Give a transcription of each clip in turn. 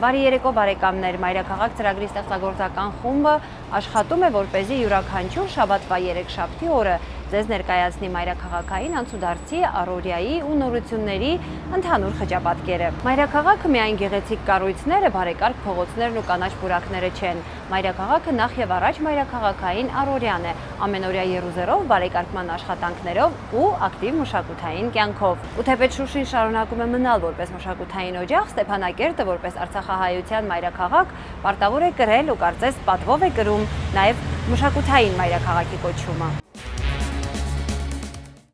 Բարի երեկո բարեկամներ, Մայրաքաղաք ծրագրի ստեղծագործական խումբը աշխատում է, որպեսզի յուրաքանչյուր շաբաթվա երեքշաբթի օրը ձեզ ներկայացնի մայրաքաղաքային անցուդարձի, առօրյայի ու նորությունների ընդհանուր խճապատկերը։ Մայրաքաղաքը միայն գեղեցիկ կառույցները, բարեկարգ փողոցներն ու կանաչ պուրակները չեն։ Մայրաքաղաքը նախ եւ առաջ մայրաքաղաքային առօրյան է, ամենօրյա եռուզեռով, բարեկարգման աշխատանքներով ու ակտիվ մշակութային կյանքով։ Ու թեպետ Շուշին շարունակում է մնալ որպես մշակութային օջախ, Ստեփանակերտը որպես Արցախահայության մայրաքաղաք պարտավոր է կրել ու կարծես պատվով է կրում նաև մշակութային մայրաքաղաքի կոչումը։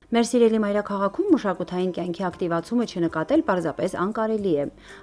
Մեր սիրելի մայրաքաղաքում մշակութային կյանքի ակտիվացումը չնկատել պարզապես անկարելի է։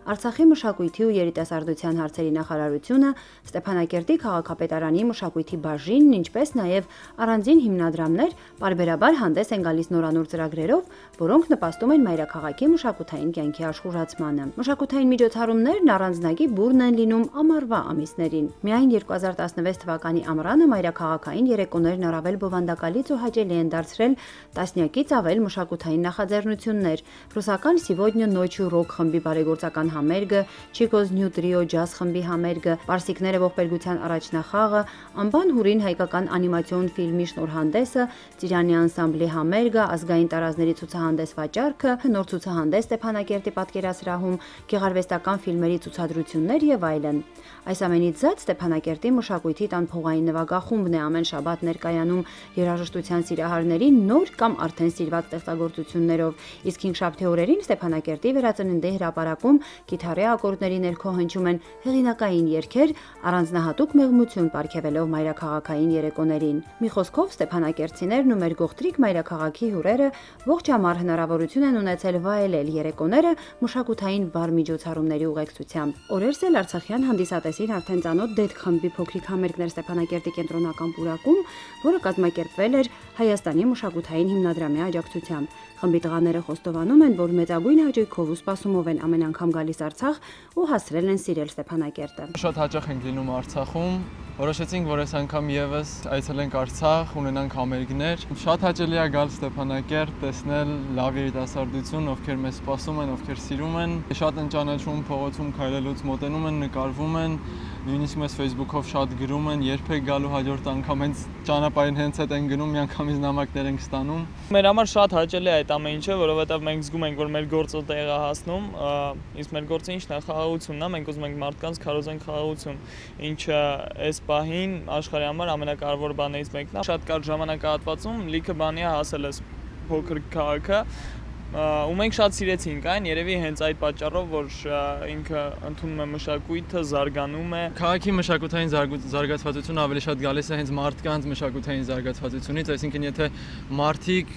Արցախի մշակույթի ու երիտասարդության հարցերի նախարարությունը, Ստեփանակերտի քաղաքապետարանի մշակույթի բաժինն, ինչպես նաև առանձին հիմնադրամներ պարբերաբար հանդես են գալիս նորանոր ծրագրերով, որոնք նպաստում են մայրաքաղաքի մշակութային կյանքի աշխուժացմանը։ Մշակութային միջոցառումներն առանձնագի բուրն են լինում ամառվա ամիսներին։ Միայն 2016 թվականի ամռանը մայրաքաղաքային երեկոներն առավել բովանդակալից ու հաճելի են դարձրել տասնյակից ավել մշակութային նախաձեռնություններ, ռուսական Սիվոդնյա նոչի ռոք խմբի բարեգործական համերգը, Չիկոզ Նյու Տրիո ջազ խմբի համերգը, Պարսիկները ողբերգության առաջնախաղը, Անբան Հուրին հայկական անիմացիոն ֆիլմի շնորհանդեսը, Ծիրանի անսամբլի համերգը, ազգային տարազների ցուցահանդես վաճառքը, նոր ցուցահանդես Ստեփանակերտի պատկերասրահում, գեղարվեստական ֆիլմերի ցուցադրություններ եւ այլն։ Այս ամենից զատ Ստեփանակերտի մշակույթի տան փողային նվագախումբն է ամեն շաբաթ ներկայանում երաժշտության սիրահարներին նոր կամ արդեն սիրված ստեղծագործություններով, իսկ հինգշաբթի օրերին Ստեփանակերտի վերածննդի հրապարակում կիթառի ակորդների ներքո հնչում են հեղինակային երգեր, առանձնահատուկ մեղմություն պարգևելով մայրաքաղաքային երեկոներին։ Մի խոսքով ստեփանակերտցիներն ու մեր գողտրիկ մայրաքաղաքի հյուրերը ողջ ամառ հնարավորություն են ունեցել վայելել երեկոները մշակութային վառ միջոցառումների ուղեկցությամբ։ Օրերս էլ արցախյան հանդիսատեսին արդեն ծանոթ Դեդ խմբի փոքրիկ համերգներ Ստեփանակերտի կենտրոնական պուրակում, որը կազմակերպվել էր Հայաստանի մշակութային հիմնադրամի աջակցությամբ։ Խմբի տղաները խոստովանում են, որ մեծագույն հաճույքով ու սպասումով են ամեն անգամ գալիս Արցախ ու հասրել են սիրել Ստեփանակերտը։ Շատ հաճախ ենք լինում Արցախում, որոշեցինք, որ այս անգամ եւս այցելենք Արցախ, ունենանք համերգներ։ Շատ հաճելի է գալ Ստեփանակերտ, տեսնել լավ երիտասարդություն, ովքեր մեզ սպասում են, ովքեր սիրում են։ Շատ են ճանաչում փողոցում քայլելուց, մոտենում են, նկարվում են, նույնիսկ մեզ Facebook-ով շատ գրում են, երբեք գալու հաջորդ անգամ հենց ճանապարհին հենց այդ են գնում, միանգամից նամակներ ենք ստանում։ Մեր համար շատ հաճելի է այդ ամեն ինչը, որովհետև մենք զգում ենք, որ մեր գործը տեղ է հասնում, իսկ մեր գործը ինչն է, խաղաղությունն է, մենք ուզում ենք մարդկանց քարոզենք խաղաղություն, ինչը այս պահին աշխարհի համար ամենակարևոր բաներից մեկն է։ Շատ կարճ ժամանակահատվածում լիքը բանի է հասել այս փոքր քաղաքը, ու մենք շատ սիրեցինք այն, երևի հենց այդ պատճառով, որ ինքը ընդունում է մշակույթը, զարգանում է։ Քաղաքի մշակութային զարգացվածությունը ավելի շատ գալիս է հենց մարդկանց մշակութային զարգացվածությունից, այսինքն եթե մարդիկ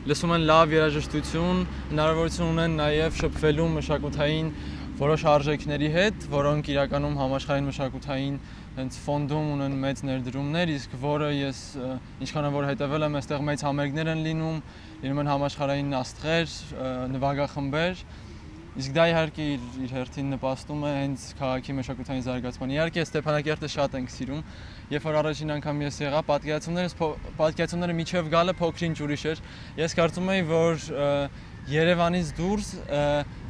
լսում են լավ երաժշտություն, հնարավորություն ունեն նաև շփվելու մշակութային որոշ արժեքների հետ, որոնք իրականում համաշխարհային մշակութային հենց ֆոնդում ունեն մեծ ներդրումներ, իսկ որը ես ինչքան որ հետևել եմ, այստեղ մեծ համերգներ են լինում են համաշխարհային աստղեր, նվագախմբեր, իսկ դա իհարկե իր հերթին նպաստում է հենց քաղաքի մշակութային զարգացմանը։ Իհարկե Ստեփանակերտը շատ ենք սիրում, երբ որ առաջին անգամ ես եղա, պատկերացումները միջև գալը փոքրինչ ուրիշ էր։ Ես կարծում եի, որ Երևանից դուրս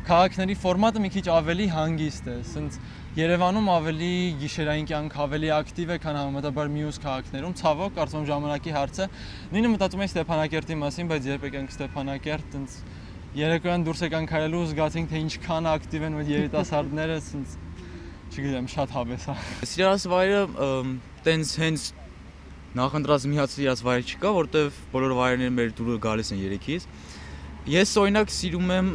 քաղաքների ֆորմատը մի քիչ ավելի հանգիստ է, ասենց Երևանում ավելի գիշերային կյանք ավելի ակտիվ է, քան համեմատաբար մյուս քաղաքներում, ցավոք, կարծում եմ ժամանակի հարց է։ Նույնը մտածում եմ Ստեփանակերտի մասին, բայց երբ եկանք Ստեփանակերտ, տենց երեկոյան դուրս եկանք քայլելու, զգացինք, թե ինչքան ակտիվ են այդ երիտասարդները, ասենց չգիտեմ, շատ հավես է։ Սիրած վայրը տենց հենց նախընտրած միացած վայր չկա, որտեվ բոլոր վայրերները մեր դուրը գալիս են երեքից։ Ես օրինակ սիրում եմ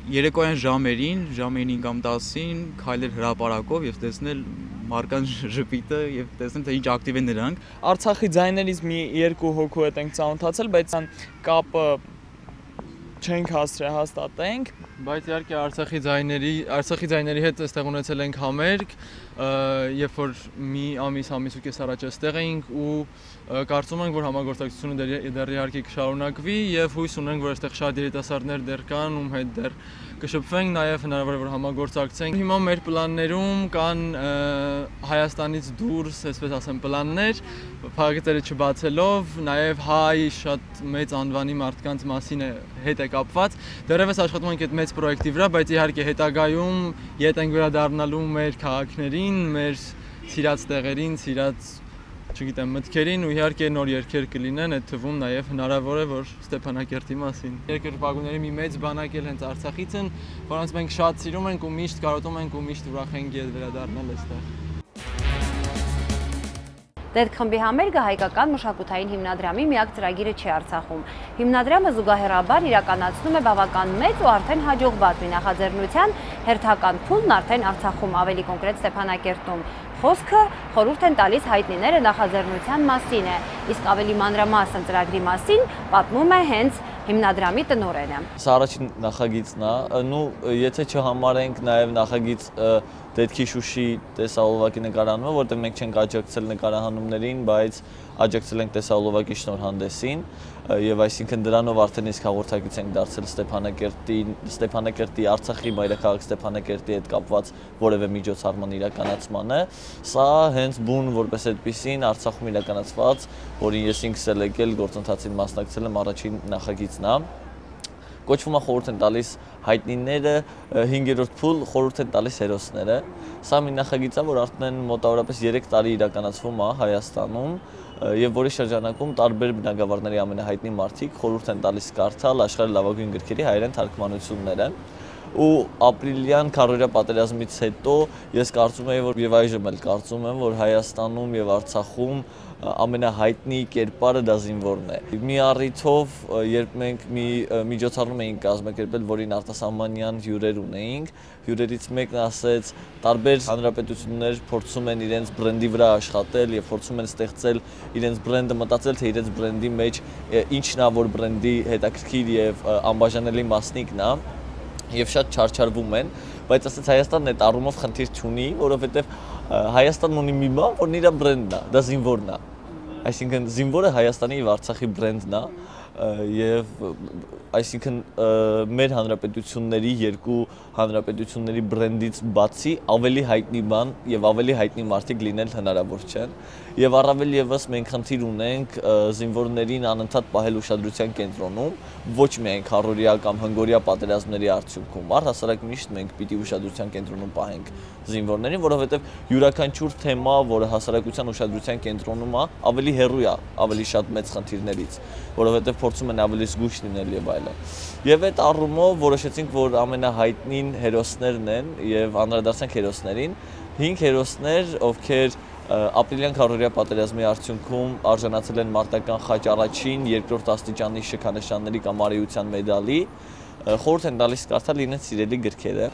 երեկոյան ժամերին 5 կամ 10-ին քայլել հրապարակով եւ տեսնել մարդկանց ժպիտը եւ տեսնել թե ինչ ակտիվ են նրանք։ Արցախի ձայներից մի երկու հոգու հետ ենք ծանոթացել, բայց կապը չենք հասցրել հաստատենք, բայց իհարկե Արցախի ձայների հետ այստեղ ունեցել ենք համերգ, երբ որ մի ամիս ու կես առաջ այստեղ էինք ու կարծում ենք, որ համագործակցությունը դեռ իհարկե կշարունակվի եւ հույս ունենք, որ այստեղ շատ երիտասարդներ դեռ կան, ում հետ դեռ կշփվենք, նաեւ հնարավոր է որ համագործակցենք։ Հիմա մեր պլաններում կան Հայաստանից դուրս, այսպես ասեմ, պլաններ, փակագծերը չբացելով, նաեւ հայ շատ մեծ անվանի մարդկանց մասին հետ է հետ կապված։ Դեռևս աշխատում ենք այդ մեծ պրոյեկտի վրա, բայց իհարկե հետագայում ետ ենք վերադառնալու մեր քաղաքներին, մեր սիրած տեղերին, սիրած չգիտեմ, մտքերին ու իհարկե նոր երգեր կլինեն, այդ թվում նաև հնարավոր է, որ Ստեփանակերտի մասին։ Երկրպագուների մի մեծ բանակ էլ հենց Արցախից են, որոնց մենք շատ սիրում ենք ու միշտ կարոտում ենք ու միշտ ուրախ ենք վերադառնալ այստեղ։ Դեդ խմբի համերգը հայկական մշակութային հիմնադրամի միակ ծրագիրը չի Արցախում։ Հիմնադրամը զուգահեռաբար իրականացնում է բավական մեծ ու արդեն հաջողված մի նախաձեռնության հերթական փուլն արդեն Արցախում, ավելի կոնկրետ Ստեփանակերտում։ Խոսքը խորհուրդ են տալիս հայտնիները նախաձեռնության մասին է, իսկ ավելի մանրամասն ծրագրի մասին պատմում է հենց հիմնադրամի տնօրենը։ Սա առաջին նախագիծն է, եթե չհամարենք նաև նախագիծ Դետքի Շուշի տեսահոլովակի նկարահանումը, որտեղ մենք չենք աջակցել նկարահանումներին, բայց աջակցել ենք տեսահոլովակի շնորհանդեսին, եւ այսինքն դրանով արդեն իսկ հաղորդակից ենք դարձել Ստեփանակերտի Արցախի մայրաքաղաք Ստեփանակերտի հետ կապված որևէ միջոցառման իրականացմանը։ Սա հենց բուն որպես այդպեսին Արցախում իրականացված, որին ես ինքս էլ եկել գործընթացին մասնակցել եմ, առաջին նախագիծն է։ Կոչվում է խորհուրդ են տալիս հայտնիները, 5-րդ փուլ խորհուրդ են տալիս հերոսները։ Սա մի նախագիծ է, որ արդեն մոտավորապես 3 տարի իրականացվում է Հայաստանում եւ որի շրջանակում տարբեր բնագավառների ամենահայտնի մարդիկ խորհուրդ են տալիս կարդալ աշխարհի լավագույն գրքերի հայերեն թարգմանությունները։ Ու ապրիլյան քարորյա պատերազմից հետո ես կարծում եմ, որ եւ այժմ էլ կարծում եմ, որ Հայաստանում եւ Արցախում ամենահայտնի կերպարը դա զինվորն է։ Մի առիթով, երբ մենք մի միջոցառում էինք կազմակերպել, որին արտասահմանյան հյուրեր ունեինք, հյուրերից մեկն ասեց, տարբեր հանրապետություններ փորձում են իրենց բրենդի վրա աշխատել եւ փորձում են ստեղծել իրենց բրենդը, մտածել թե իրենց բրենդի մեջ ինչն է, որ բրենդի հետաքրքիր եւ անբաժանելի մասնիկն է։ Եվ շատ չարչարվում են, բայց ասեց Հայաստանն այդ առումով խնդիր չունի, որովհետև Հայաստանն ունի մի բան, որն իր բրենդն է, դա զինվորն է։ Այսինքն զինվորը Հայաստանի եւ Արցախի բրենդն է եւ այսինքն մեր հանրապետությունների երկու հանրապետությունների բրենդից բացի ավելի հայտնի բան եւ ավելի հայտնի մարդիկ լինել հնարավոր չեն եւ առավել եւս մենք խնդիր ունենք զինվորներին անընդհատ պահել ուշադրության կենտրոնում ոչ միայն քարորիա կամ հնգորիա պատերազմների արդյունքում առհասարակ միշտ մենք պիտի ուշադրության կենտրոնում պահենք զինվորներին որովհետեւ յուրաքանչյուր թեմա որը հասարակության ուշադրության կենտրոնում է ավելի հեռու է ավելի շատ մեծ խնդիրներից որովհետեւ փորձում են ավելի զգույշ լինել եւ այլն եւ այդ առումով որոշեցինք որ ամենահայտնին հերոսներն են եւ անդրադարձանք հերոսներին 5 հերոսներ ովքեր ապրիլյան քարորիա պատերազմի արդյունքում արժանացել են մարտական խաչ առաջին, երկրորդ աստիճանի շքանշանների կամ արիության մեդալի, խորհուրդ են տալիս կարդալ իրենց սիրելի գրքերը։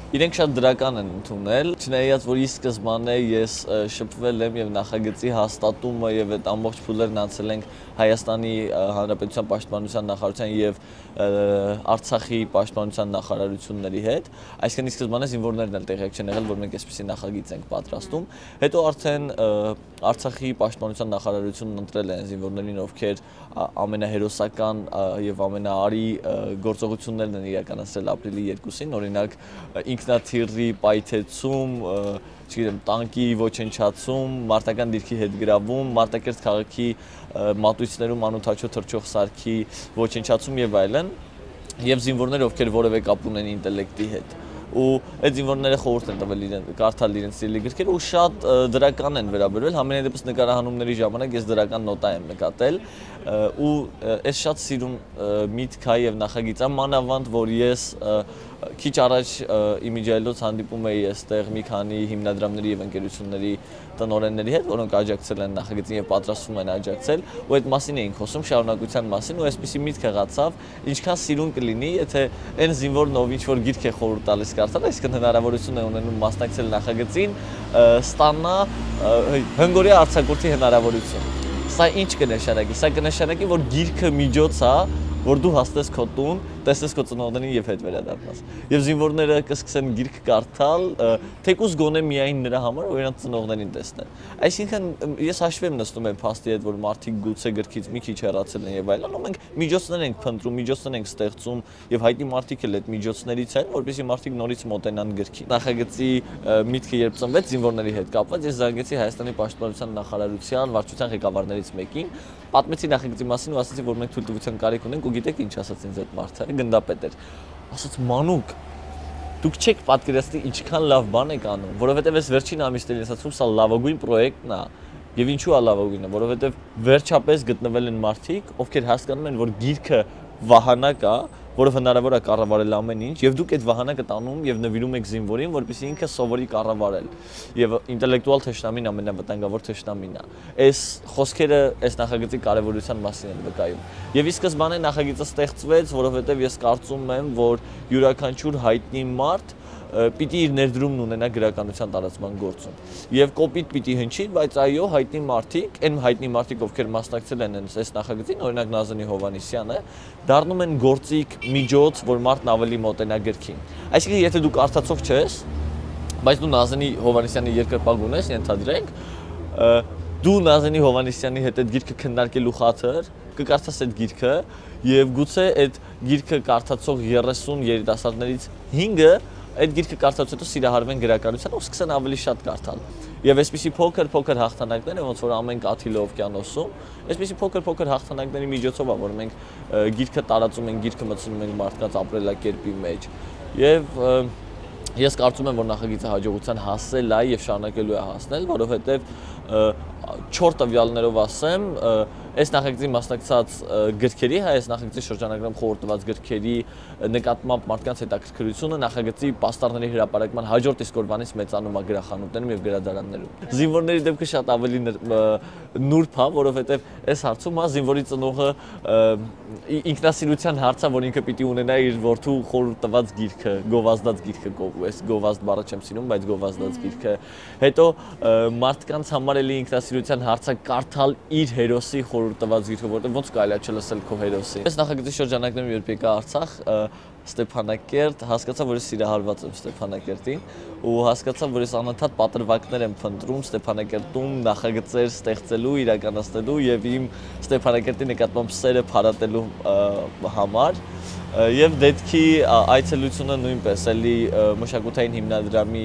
Իրենք շատ դրական են ընդունել, չնայած որ ի սկզբանե ես շփվել եմ եւ նախագծի հաստատումը եւ այդ ամբողջ փուլերն անցել ենք Հայաստանի Հանրապետության Պաշտպանության նախարարության եւ Արցախի Պաշտպանության նախարարությունների հետ, այսինքն ի սկզբանե զինվորներն էլ տեղյակ չեն եղել, որ մենք այսպիսի նախագիծ ենք պատրաստում, հետո արդեն Արցախի Պաշտպանության նախարարությունն ընտրել է զինվորներին, ովքեր ամենահերոսական եւ ամենաարի գործողություններն են իրականացրել ապրիլի 2-ին, օրինակ ինքնաթիռի պայթեցում, չգիտեմ, տանկի ոչնչացում, մարտական դիրքի հետ գրավում, Մարտակերտ քաղաքի մատույցներում անօթաչո թռչող սարքի ոչնչացում եւ այլն, եւ զինվորներ, ովքեր որևէ կապ ունեն ինտելեկտի հետ։ Ու այդ զինվորները խորհուրդ են տվել կարդալ իրենց սիրելի գրքերը ու շատ դրական են վերաբերվել, համենայն դեպս նկարահանումների ժամանակ ես դրական նոտա եմ նկատել ու ես շատ սիրուն միտք է եւ նախագիծ է, մանավանդ որ ես քիչ առաջ իմիջիայլոց հանդիպում էի այստեղ մի քանի հիմնադրամների եւ ընկերությունների տնօրենների հետ, որոնք աջակցել են նախագծին եւ պատրաստվում են աջակցել, ու այդ մասին էինք խոսում, շարունակության մասին, ու այսպեսի միտք եղածավ, ինչքան սիրուն կլինի, եթե այն զինվորն ով ինչ որ գիրք է խորհուրդ տալիս կարդալ, այսինքն հնարավորություն է ունենում մասնակցել նախագծին, ստանա հնգորիա արձակուրդի հնարավորություն։ Սա ինչ կնշանակի։ Սա կնշանակի, որ գիրքը միջոց է, որ դու հասնես քո տուն, տեսնես քո ծնողներին եւ հետ վերադառնաս։ Եվ զինվորները կսկսեն գիրք կարդալ, թեկուզ գոնե միայն նրա համար, որ իրենց ծնողներին տեսնեն։ Այսինքն ես հաշվի եմ նստում այն փաստի հետ, որ մարդիկ գուցե գրքից մի քիչ հեռացել են եւ այլն, ու մենք միջոցներ ենք փնտրում, միջոցներ ենք ստեղծում եւ հայտնի մարդիկ էլ այդ միջոցներից են, որպեսզի մարդիկ նորից մոտենան գրքին։ Նախագծի միտքը երբ ծնվեց զինվորների հետ կապված, ես զանգեցի Հայաստանի Պաշտպանության նախարարության վարչության ղեկավարներից մեկին, պատմեցի նախագծի մասին ու ասացի, որ մենք թույլտվության կարիք ունենք ու գիտեք ինչ ասաց ինձ այդ մարդը։ գնդապետ էր։ Ասաց մանուկ դուք չեք պատկերացնի ինչքան լավ բան եք անում, որովհետև այս վերջին ամիսներին ասացում սա լավագույն պրոյեկտն է։ Եվ ինչու է լավագույնը, որովհետև վերջապես գտնվել են մարդիկ, ովքեր հասկանում են, որ գիրքը վահանակ է, որը հնարավոր է կառավարել ամեն ինչ, եւ դուք այդ վահանակը տանում եւ նվիրում եք զինվորին, որպեսզի ինքը սովորի կառավարել։ Եվ ինտելեկտուալ թշնամին ամենավտանգավոր թշնամին է։ Այս խոսքերը այս նախագծի կարևորության մասին են վկայում։ Եվ ի սկզբանե նախագիծը ստեղծվեց, որովհետեւ ես կարծում եմ, որ յուրաքանչյուր հայտնի մարդ պիտի իր ներդրումն ունենա գրականության տարածման գործում։ Եվ կոպիտ պիտի հնչի, բայց այո, հայտնի մարդիկ, այն հայտնի մարդիկ, ովքեր մասնակցել են այս նախագծին, օրինակ Նազանի Հովհաննիսյանը, դառնում են գործիք, միջոց, որ մարդն ավելի մոտենա գրքին։ Այսինքն, եթե դու կարդացող չես, բայց դու Նազանի Հովհաննիսյանի երկրպագ ունես, ենթադրենք, դու Նազանի Հովհաննիսյանի հետ այդ գիրքը քննարկելու խաթր կկարդաս այդ գիրքը եւ գուցե այդ գիրքը կարդացող 30 երիտասարդներից 5-ը այդ գիրքը կարդացած հետո սիրահարվեն գրականության ու սկսեն ավելի շատ կարդալ։ Եվ այսպիսի փոքր հաղթանակներ, ոնց որ ամեն կաթիլը օվկիանոսում, այսպիսի փոքր հաղթանակների միջոցով է, որ մենք գիրքը տարածում ենք, գիրքը մտցնում ենք մարդկանց ապրելակերպի մեջ։ Եվ ես կարծում եմ, որ նախագիծը հաջողության հասել է եւ շարունակելու է հասնել, որովհետեւ 4 տվյալներով ասեմ, այս նախագծի մասնակցած գրքերի, այս նախագծի շրջանագրում խորհուրդ տված գրքերի նկատմամբ մարդկանց հետաքրքրությունը նախագծի պաստառների հրապարակման հաջորդ իսկ օրվանից մեծանում է գրախանութներում եւ գրադարաններում։ Զինվորների դեպքը շատ ավելի նուրբ է, որովհետեւ այս հարցում է զինվորի ծնողը ինքնասիրության հարց է, որ ինքը պիտի ունենա իր որդու խորհուրդ տված գիրքը, գովազդած գիրքը, այս գովազդ բառը չեմ սիրում, բայց գովազդած գիրքը։ Հետո մարդկանց համար էլի ինքնասիրության հարցը կարդալ իր հերոսի խորհուրդ տված գիրքը, որտեղ ոնց կարելի է չլսել քո հերոսին։ Այս նախագծի շրջանակներում երբ եկա Արցախ, Ստեփանակերտ, հասկացա, որ ես սիրահարված եմ Ստեփանակերտին ու հասկացա, որ ես անընդհատ պատրվակներ եմ փնտրում Ստեփանակերտում նախագծեր ստեղծելու, իրականացնելու եւ իմ Ստեփանակերտի նկատմամբ սերը փարատելու համար։ Եվ դեպքի այցելությունը նույնպես էլի մշակութային հիմնադրամի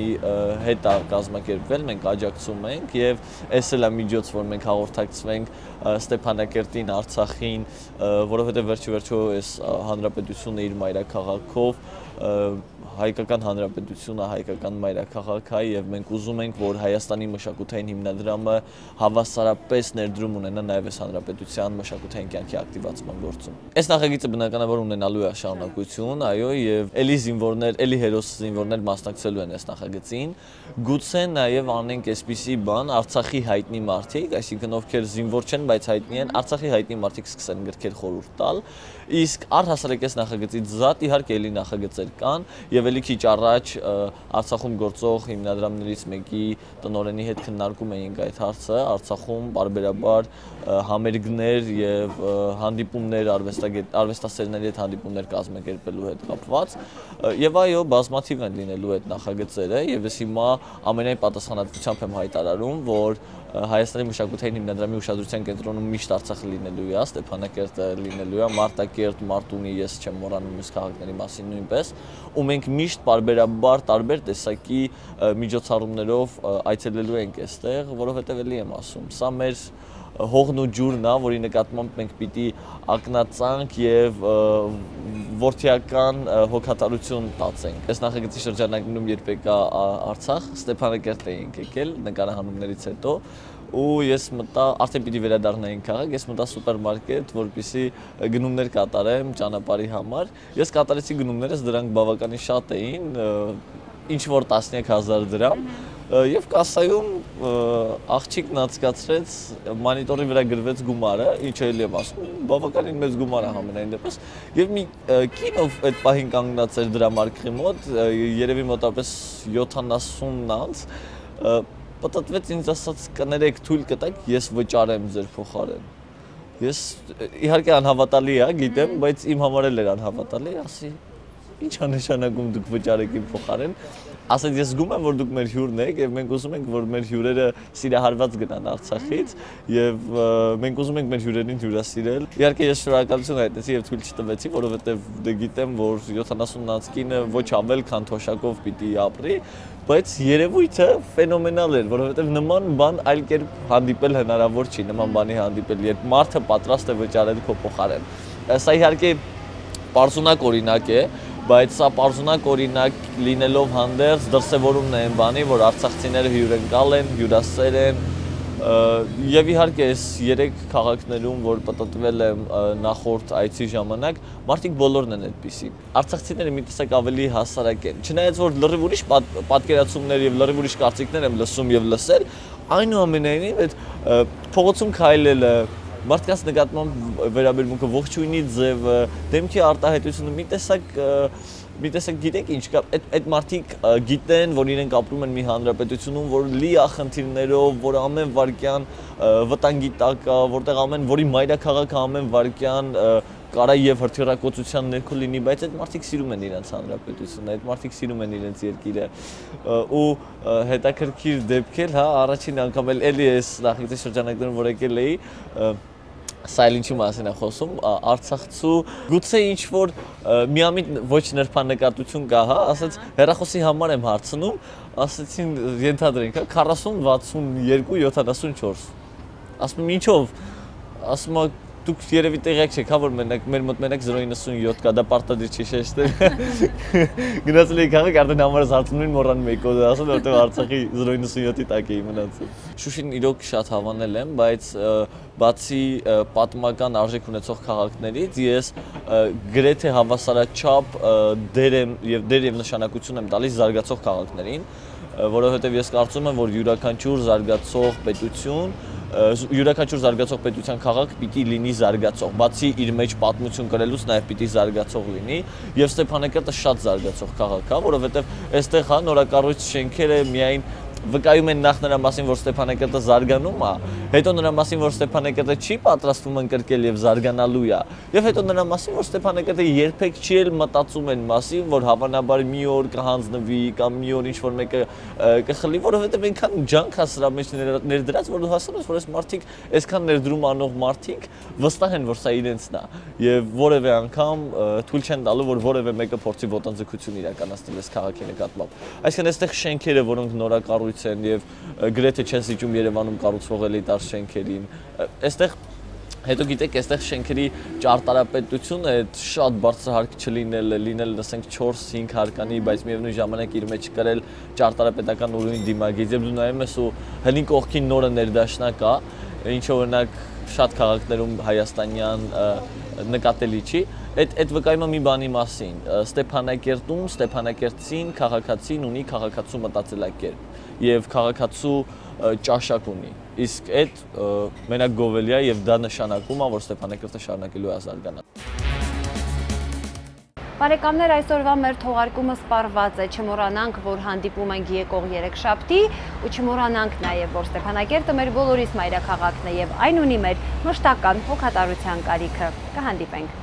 հետ է կազմակերպվել, մենք աջակցում ենք եւ այս էլ է միջոց, որ մենք հաղորդակցվենք Ստեփանակերտին, Արցախին, որովհետեւ վերջիվերջո այս հանրապետությունը իր մայրաքաղաքով հայկական հանրապետությունը հայկական մայրաքաղաք է եւ մենք ուզում ենք, որ Հայաստանի մշակութային հիմնադրամը հավասարապես ներդրում ունենա նաեւ այս հանրապետության մշակութային կյանքի ակտիվացման գործում։ Այս նախագիծը բնականաբար ունենալու է շարունակություն, այո, եւ էլի զինվորներ, էլի հերոս զինվորներ մասնակցելու են այս նախագծին։ Գուցե նաեւ անենք այսպիսի բան, Արցախի հայտնի մարդիկ, այսինքն ովքեր զինվոր չեն, բայց հայտնի են, Արցախի հայտնի մարդիկ սկսեն գրքեր խորհուրդ տալ, իսկ առհասարակ այս նախագծից զատ իհարկե էլի նախագծեր կան եւ էլի քիչ առաջ Արցախում գործող հիմնադրամներից մեկի տնօրենի հետ քննարկում էինք այդ հարցը, Արցախում բարբերաբար համերգներ եւ հանդիպումներ արվեստասերների հետ հանդիպումներ կազմակերպելու հետ կապված եւ այո, բազմաթիվ են լինելու այդ նախագծերը եւ ես հիմա ամենայն պատասխանատվությամբ եմ հայտարարում, որ Հայաստանի մշակութային հիմնադրամի ուշադրության կենտրոնում միշտ Արցախը լինելու է, Ստեփանակերտը լինելու է, Մարտակերտ, Մարտունի, ես չեմ մոռանում մյուս քաղաքների մասին նույնպես, ու մենք միշտ բարբերաբար տարբեր տեսակի միջոցառումներով այցելելու ենք այստեղ, որովհետև էլի եմ ասում, սա մեր հողն ու ջուրն է, որի նկատմամբ մենք պիտի ակնածանք եւ որդիական հոգատարություն տածենք։ Այս նախագծի շրջանակներում երբ եկա Արցախ, Ստեփանակերտ էինք եկել նկարահանումներից հետո ու ես մտա, արդեն պիտի վերադառնայինք քաղաք, ես մտա սուպերմարկետ, որպեսզի գնումներ կատարեմ ճանապարհի համար։ Ես կատարեցի գնումներս, դրանք բավականին շատ էին, ինչ որ 10,000 դրամ։ Եվ կասայում աղջիկն անցկացրեց, մանիտորի վրա գրվեց գումարը, ինչ էլի եմ ասում, բավականին մեծ գումար է համենայն դեպս։ Եվ մի կին ով այդ պահին կանգնած էր դրամարկղի մոտ, երևի մոտավորապես 70 անց, պատտվեց ինձ ասաց կներեք թույլ կտակ, ես վճարեմ ձեր փոխարեն։ Ես իհարկե անհավատալի է, գիտեմ, բայց իմ համար էլ էր անհավատալի, ասի ինչ է նշանակում դուք վճարեք իմ փոխարեն։ Ասած ես զգում եմ, որ դուք մեր հյուրն եք եւ մենք ուզում ենք, որ մեր հյուրերը սիրահարված գնան Արցախից եւ մենք ուզում ենք մեր հյուրերին հյուրասիրել։ Իհարկե ես շնորհակալություն հայտնեցի եւ թույլ չտվեցի, որովհետեւ դե գիտեմ, որ 70-ից կինը ոչ ավել, քան թոշակով պիտի ապրի, բայց երևույթը ֆենոմենալ էր, որովհետեւ նման բան այլ կերպ հանդիպել հնարավոր չի, նման բանի հանդիպել, երբ մարդը պատրաստ է վճարել քո փոխարեն։ Սա իհարկե պարզունակ օրինակ է, բայց սա պարզունակ օրինակ լինելով հանդերձ դրսևորումն է այն բանի, որ արցախցիները հյուրընկալ են, հյուրասեր են, եւ իհարկե այս 3 քաղաքներում, որ պատտվել եմ նախորդ այցի ժամանակ, մարդիկ բոլորն են այդպիսի։ Արցախցիները մի տեսակ ավելի հասարակ են։ Չնայած որ լրիվ ուրիշ պատկերացումներ եւ լրիվ ուրիշ կարծիքներ եմ լսում եւ լսել, այնուամենայնիվ այդ փողոցում քայլելը, մարդկանց նկատմամբ վերաբերմունքը, ողջույնի ձևը, դեմքի արտահայտությունը մի տեսակ գիտեք ինչ կա, այդ մարդիկ գիտեն, որ իրենք ապրում են մի հանրապետությունում, որ լի է խնդիրներով, որ ամեն վարքյան վտանգի տակ է, որտեղ որի մայրաքաղաքը ամեն վարքյան կարա եւ հրթիռակոծության ներքո լինի, բայց այդ մարդիկ սիրում են իրենց հանրապետությունը, այդ մարդիկ սիրում են իրենց երկիրը ու հետաքրքիր դեպքեր, հա, առաջին անգամ էլի էս նախագծի շրջանակներում որ եկել էի Սա ինչի մասին է խոսում, Արցախցու գուցե ինչ որ միամիտ ոչ նրբանկատություն կա, հա, ասած հեռախոսի համար եմ հարցնում, ասացին ենթադրենք, հա, 40, 62, 74։ Ասում եմ ինչով, ասում եմ դուք երևի տեղյակ չեք, հա, որ մեր մոտ մենակ 097 կա, դա պարտադիր չի շեշտել։ Գնացել էի քաղաք, արդեն համարս հարցնում են մոռանում էի կոդը ասել, որտեղ Արցախի 097-ի տակ էի մնացել։ Շուշին իրոք շատ հավանել եմ, բայց բացի պատմական արժեք ունեցող քաղաքներից ես գրեթե հավասարաչափ դեր եւ նշանակություն եմ տալիս զարգացող քաղաքներին, որովհետեւ ես կարծում եմ, որ յուրաքանչյուր զարգացող պետության քաղաք պիտի լինի զարգացող, բացի իր մեջ պատմություն կրելուց նաև պիտի զարգացող լինի, եւ Ստեփանակերտը շատ զարգացող քաղաք է, որովհետեւ այստեղ հա նորակառույց շենքերը միայն վկայում են նախ նրա մասին, որ Ստեփանակերտը զարգանում է, հետո նրա մասին, որ Ստեփանակերտը չի պատրաստվում ընկրկել եւ զարգանալու է, եւ հետո նրա մասին, որ Ստեփանակերտը երբեք չի էլ մտածում են մասին, որ հավանաբար մի օր կհանձնվի կամ մի օր ինչ-որ մեկը կխլի, որովհետեւ այնքան ջանք է սրա մեջ ներդրած, որ դու հասնում ես, որ այս մարդիկ, այսքան ներդրում անող մարդիկ վստահ են, որ սա իրենցն է եւ որևէ անգամ թույլ չեն տալու, որ որևէ մեկը փորձի ոտնձգություն իրականացնել այս քաղաքի նկատմամբ։ Այսինքն այստեղ շենքերը, որոնք նորակառույց են եւ գրեթե չեն զիջում Երևանում կառուցվող էլիտար շենքերին։ Այստեղ հետո գիտեք, այստեղ շենքերի ճարտարապետությունը այդ շատ բարձրահարկ չլինելը, լինել ասենք 4-5 հարկանի, բայց միևնույն ժամանակ իր մեջ կրել ճարտարապետական ուրույն դիմագիծ։ Եվ դու նայում ես ու հնի կողքին նորը ներդաշնակ է, ինչը օրինակ շատ քաղաքներում հայաստանյան նկատելի չի։ Այդ վկայում է մի բանի մասին։ Ստեփանակերտում ստեփանակերտցին, քաղաքացին ունի քաղաքացու մտածելակերպ եւ քաղաքացու ճաշակ ունի։ Իսկ այդ մենակ գովելի է եւ դա նշանակում է, որ Ստեփանակերտը շարունակելու է զարգանալ։ Բարեկամներ, այսօրվա մեր թողարկումը սպառված է, չմոռանանք, որ հանդիպում ենք եկող երեքշաբթի ու չմոռանանք նաև, որ Ստեփանակերտը մեր բոլորիս մայրաքաղաքն է եւ այն ունի մեր մշտական հոգատարության կարիքը։ Կհանդիպենք։